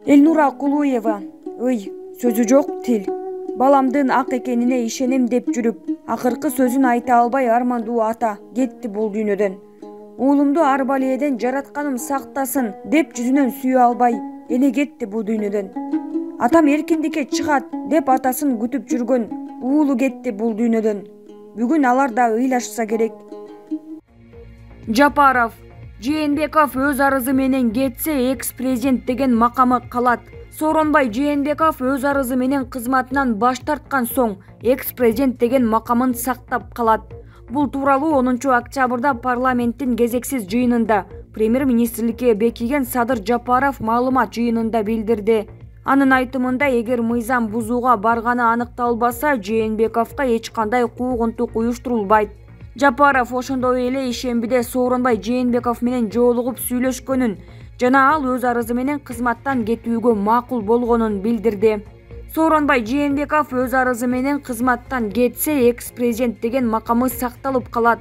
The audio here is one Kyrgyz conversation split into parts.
Элнура Кулуева. Ый, сөзү жок тил. Баламдын ак экенине ишенем деп жүрүп, акыркы сөзүн айта албай армандуу ата кетти бул дүйнөдөн. Уулумду ар балээден жаратканым сактасын деп жүзүнөн сүйө албай эне кетти бул дүйнөдөн. Атам эркиндикке чыгат деп атасын күтүп жүргөн уулу кетти бул дүйнөдөн. Бүгүн алар да ыйлашса керек. Жапаров. Жээнбеков өз арызы менен кетсе, экс-президент деген макамы калат. Сооронбай Жээнбеков өз арызы менен кызматынан баш тарткан соң, экс-президент деген макамын сактап калат. Бул тууралуу 10 октябрда парламенттин кезексиз жыйынында премьер-министрликке бекиген Садыр Жапаров маалымат жыйынында билдирди. Анын айтымында, эгер мыйзам бузууга барганы аныкталбаса, Жээнбековго эч кандай куугунтук уюштурулбайт. Жапаров ошондой эле ишембиде Сооронбай Жээнбеков менен жолугуп сүйлөшкөнүн жана ал өз арызы менен кызматтан кетүүгө макул болгонун билдирди. Сооронбай Жээнбеков өз арызы менен кызматтан кетсе, экс-президент деген макамы сакталып калат.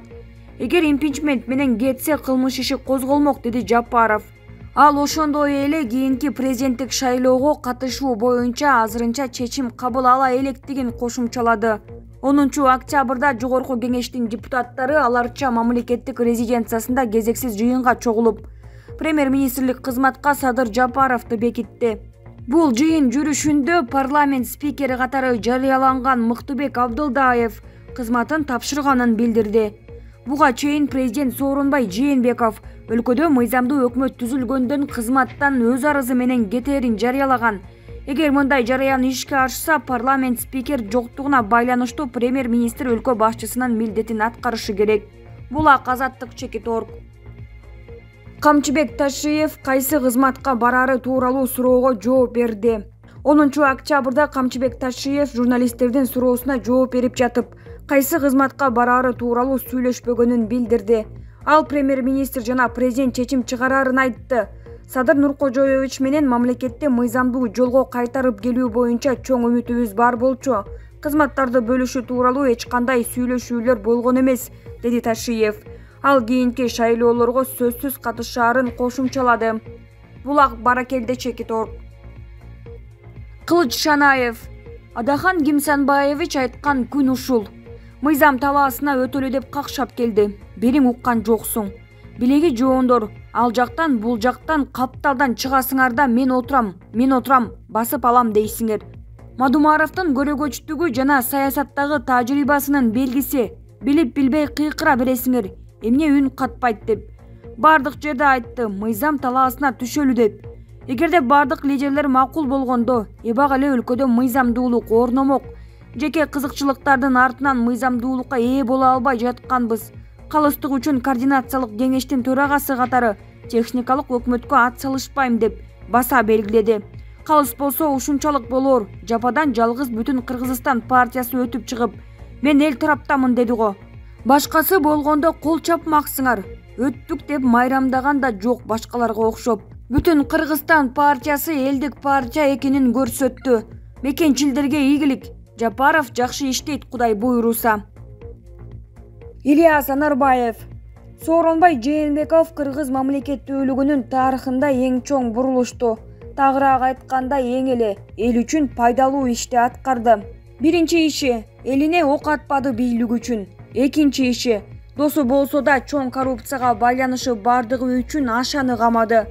Эгер импичмент менен кетсе, кылмыш иши козголмок, деди Жапаров. Ал ошондой эле кийинки президенттик шайлоого катышуу боюнча азырынча чечим кабыл ала электигин кошумчалады. 10 октябрда Жогорку кеңештин депутаттары аларча мамлекеттик резиденциясында кезексиз жыйынга чогулуп, премьер-министрлик кызматка Садыр Жапаровду бекитти. Бул жыйын жүрүшүндө парламент спикери катары жарыяланган Мыктыбек Абдылдаев кызматын тапшырганын билдирди. Буга чейин президент Сооронбай Жээнбеков өлкөдө мыйзамдуу өкмөт түзүлгөндөн кызматтан өз арызы менен кетээрин жарыялаган. Эгер мындай жарыян ишке ашса, парламент спикер жоктугуна байланыштуу премьер-министр өлкө башчысынын милдетин аткарышы керек. Булак Азаттык Чекиторг. Камчыбек Ташиев кайсы кызматка барары тууралуу суроого жооп берди. 10 октябрда Камчыбек Ташиев журналисттердин суроосуна жооп берип жатып, кайсы кызматка барары тууралуу сүйлөшпөгөнүн билдирди. Ал премьер-министр жана президент чечим чыгарарын айтты. Садыр Нуркожоевич менен мамлекетте мыйзамдуу жолго кайтарып келүү боюнча чоң үмүтүбүз бар болчу. Кызматтарды бөлүшүү тууралуу эч кандай сүйлөшүүлөр болгон эмес, деди Ташиев. Ал кийинки шайлоолорго сөзсүз катышаарын кошумчалады. Булак Баракелде Чекиторг. Кылыч Шанаев. Адахан Кимсанбаевич айткан күн ушул. Мыйзам талаасына өтөлү деп какшап келди. Бериң уккан жоксуң. Билеги жоондор, ал жактан бул жактан капталдан чыгасыңарда мен отурам, басып алам дейсиңер. Мадумаровдун көрөгөчтүгү жана саясаттагы тажрыйбасынын белгиси. Билип билбей кыйкыра бересиңер. Эмне үн катпайт деп. Бардык жерде айтты, мыйзам талаасына түшөлү деп. Эгерде бардык лидерлер макул болгондо, эбак эле өлкөдө мыйзамдуулук орномок. Жеке кызыкчылыктардын артынан мыйзамдуулукка ээ боло албай жатканбыз. Калыстык үчүн координациялык кеңештин төрагасы катары техникалык өкмөткө ат салышпайм деп баса белгиледи. Калыс болсо ушунчалык болор. Жападан жалгыз бүтүн Кыргызстан партиясы өтүп чыгып, мен эл тараптамын деди го. Башкасы болгондо кол чапмаксыңар. Өттүк деп майрамдаган да жок башкаларга окшоп. Бүтүн Кыргызстан партиясы элдик партия экенин көрсөттү. Мекенчилдерге ийгилик. Жапаров жакшы иштейт, Кудай буйруса. Ильяс Анарбаев. Сооронбай Жээнбеков кыргыз мамлекеттүүлүгүнүн тарыхында эң чоң бурулушту. Тагыраак айтканда эң эле эл үчүн пайдалуу ишти аткарды. Биринчи иши элине ок атпады бийлик үчүн. Экинчи иши досу болсо да чоң коррупцияга байланышы бардыгы үчүн ашаны камады.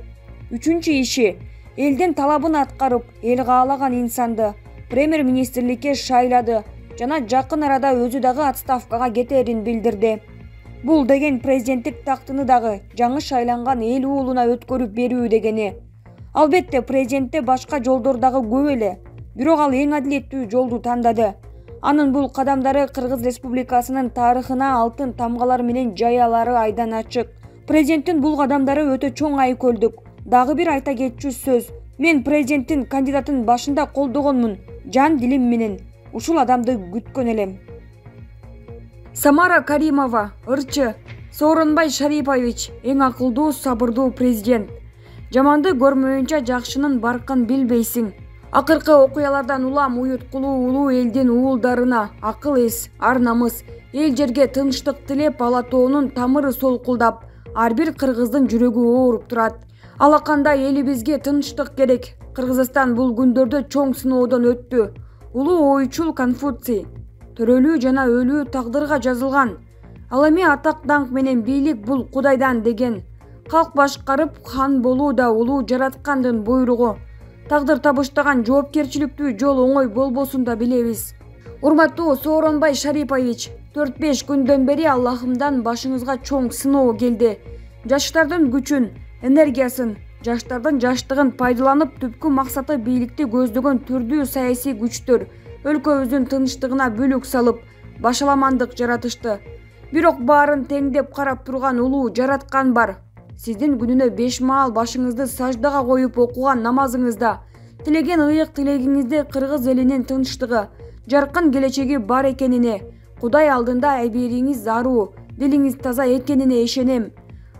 Үчүнчү иши элдин талабын аткарып, эл каалаган инсанды премьер-министрликке шайлады жана жакын арада өзү дагы отставкага кетерин билдирди. Бул деген президенттик тактыны дагы жаңы шайланган эл уулуна өткөрүп берүү дегени. Албетте президентте башка жолдор дагы көп эле, бирок ал эң адилеттүү жолду тандады. Анын бул кадамдары Кыргыз Республикасынын тарыхына алтын тамгалар менен жаялары айдан ачык. Президенттин бул кадамдары өтө чоң айкөлдүк. Дагы бир айта кетчү сөз. Мен президенттин кандидатын башында колдогонмун, жан дилим менен. Ушул адамды күткөн элем. Самара Каримова, ырчы. Сооронбай Шарипович эң акылдуу, сабырдуу президент. Жаманды көрмөйүнчө жакшынын баркын билбейсиң. Акыркы окуялардан улам уюткулуу улуу элдин уулдарына акыл эс, ар намыс, эл жерге тынчтык тилеп Алатоонун тамыры солкулдап, ар бир кыргыздын жүрөгү ооруп турат. Алакандай элибизге тынчтык керек. Кыргызстан бул күндөрдө чоң сыноодон өттү. Улуу ойчул Конфуций төрөлүү жана өлүү тагдырга жазылган. Ал эми атак даңк менен бийлик бул Кудайдан деген. Калк башкарып хан болуу да улуу жараткандын буйругу. Тагдыр табыштаган жоопкерчиликтүү жол оңой болбосун да билебиз. Урматтуу Сооронбай Шарипович, 4-5 күндөн бери Аллахымдан башыңызга чоң сыноо келди. Жаштардын күчүн, энергиясын, жаштардын жаштыгын пайдаланып түпкү максаты бийликти көздөгөн түрдүү саясий күчтөр өлкөбүздүн тынчтыгына бүлүк салып, башаламандык жаратышты. Бирок баарын теңдеп карап турган улуу жараткан бар. Сиздин күнүнө 5 маал башыңызды саждага коюп окуган намазыңызда, тилеген ыйык тилегиңизде кыргыз элинин тынчтыгы, жаркын келечеги бар экенине, Кудай алдында айбериңиз заруу, дилиңиз таза экенине ишенем.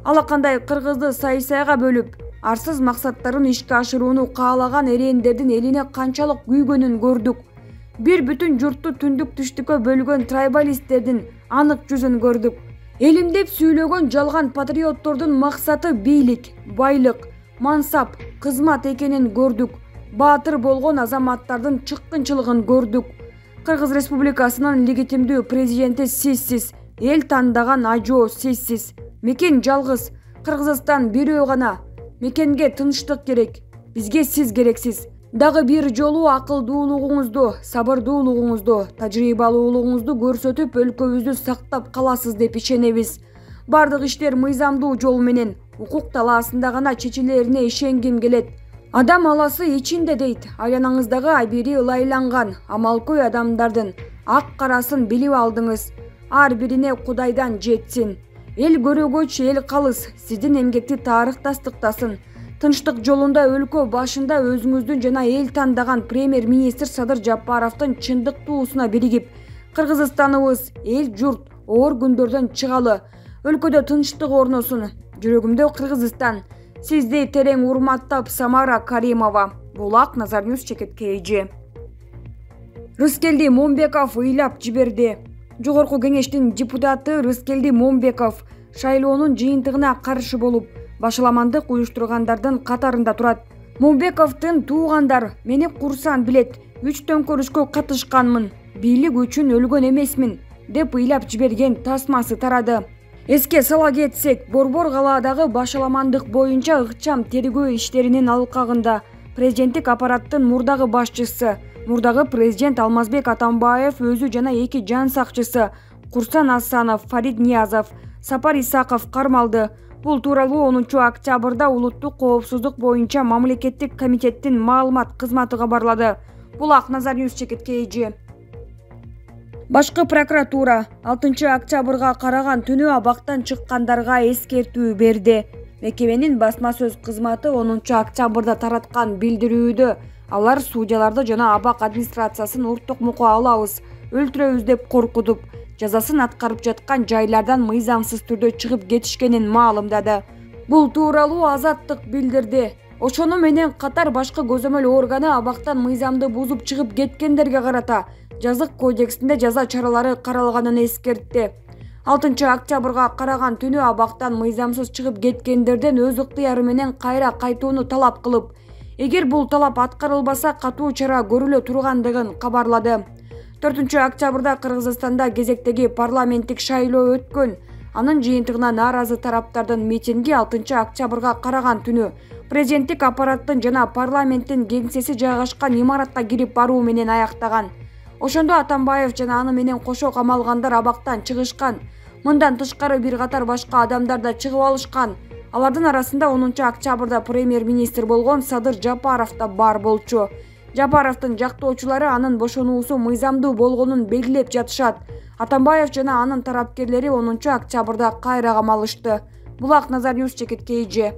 Алакандай кыргызды сай-сайга бөлүп, арсыз максаттарын ишке ашырууну каалаган эреендердин элине канчалык күйгөнүн көрдүк. Бир бүтүн журтту түндүк түштүккө бөлгөн трайбалисттердин анык жүзүн көрдүк. Элим деп сүйлөгөн жалган патриоттордун максаты бийлик, байлык, мансап, кызмат экенин көрдүк. Баатыр болгон азаматтардын чыккынчылыгын көрдүк. Кыргыз Республикасынын легитимдүү президенти сизсиз, эл тандаган ажоо сизсиз. Мекен жалгыз, Кыргызстан бирөө гана. Мекенге тынчтык керек, бизге сиз керексиз. Дагы бир жолу акылдуулугуңузду, сабырдуулугуңузду, тажрыйбалуулугуңузду көрсөтүп өлкөбүздү сактап каласыз деп ишенебиз. Бардык иштер мыйзамдуу жол менен, укук талаасында гана чечилерине ишенгим келет. Адам аласы ичинде дейт. Айланаңыздагы айбери ылайланган, амалкөй адамдардын ак карасын билип алдыңыз. Ар бирине Кудайдан жетсин. Эл көрөгөч, эл калыс, сиздин эмгекти тарых тастыктасын. Тынчтык жолунда өлкө башында өзүңүздүн жана эл тандаган премьер-министр Садыр Жапаровдун чындыктуусуна биригип, Кыргызстаныбыз, эл журт оор күндөрдөн чыгалы, өлкөдө тынчтык орносун. Жүрөгүмдө Кыргызстан. Сизди терең урматтап, Самара Каримова. Булак Назар Ньюс чекиткейи. Рыскелди Момбеков ыйлап жиберди. Жогорку кеңештин депутаты Рыскелди Момбеков шайлоонун жыйынтыгына каршы болуп, башаламандык уюштургандардын катарында турат. Момбековдун туугандар мени курсан билет, 3 төңкөрүшкө катышканмын, бийлик үчүн өлгөн эмесмин деп ыйлап жиберген тасмасы тарады. Эске сала кетсек, Борбор калаадагы башаламандык боюнча ыкчам тергөө иштеринин алкагында президенттик аппараттын мурдагы башчысы, мурдагы президент Алмазбек Атамбаев өзү жана 2 жан сакчысы Курсан Асанов, Фарид Ниязов, Сапар Исаков кармалды. Бул тууралуу 10 октябрда Улуттук коопсуздук боюнча мамлекеттик комитеттин маалымат кызматы кабарлады. Булак Назар Ньюс чекиткейи. Башкы прокуратура 6 октябрга караган түнү абактан чыккандарга эскертүү берди. Мекеменин басма сөз кызматы 10 октябрда тараткан билдирүүдө алар судьяларды жана абак администрациясын уртукмукка алабыз, өлтүрөбүз деп коркутуп, жазасын аткарып жаткан жайлардан мыйзамсыз түрдө чыгып кетишкенин маалымдады. Бул тууралуу Азаттык билдирди. Ошону менен катар башкы көзөмөл органы абактан мыйзамды бузуп чыгып кеткендерге карата жазык кодексинде жаза чаралары каралганын эскертти. 6 октябрга караган түнү абактан мыйзамсыз чыгып кеткендерден өз ыктыяры менен кайра кайтууну талап кылып, эгер бул талап аткарылбаса катуу чара көрүлө тургандыгын кабарлады. 4 октябрда Кыргызстанда кезектеги парламенттик шайлоо өткөн. Анын жыйынтыгына нааразы тараптардын митинги 6 октябрга караган түнү президенттик аппараттын жана парламенттин кеңсеси жайгашкан имаратка кирип баруу менен аяктаган. Ошондо Атамбаев жана аны менен кошо камалгандар абактан чыгышкан. Мындан тышкары бир катар башка адамдар да чыгып алышкан. Алардын арасында 10 октябрда премьер-министр болгон Садыр Жапаров да бар болчу. Жапаровдун жактоочулары анын бошонуусу мыйзамдуу болгонун белгилеп жатышат. Атамбаев жана анын тарапкерлери 10 октябрда кайра камалышты. Булак Назар Ньюс чекиткейи.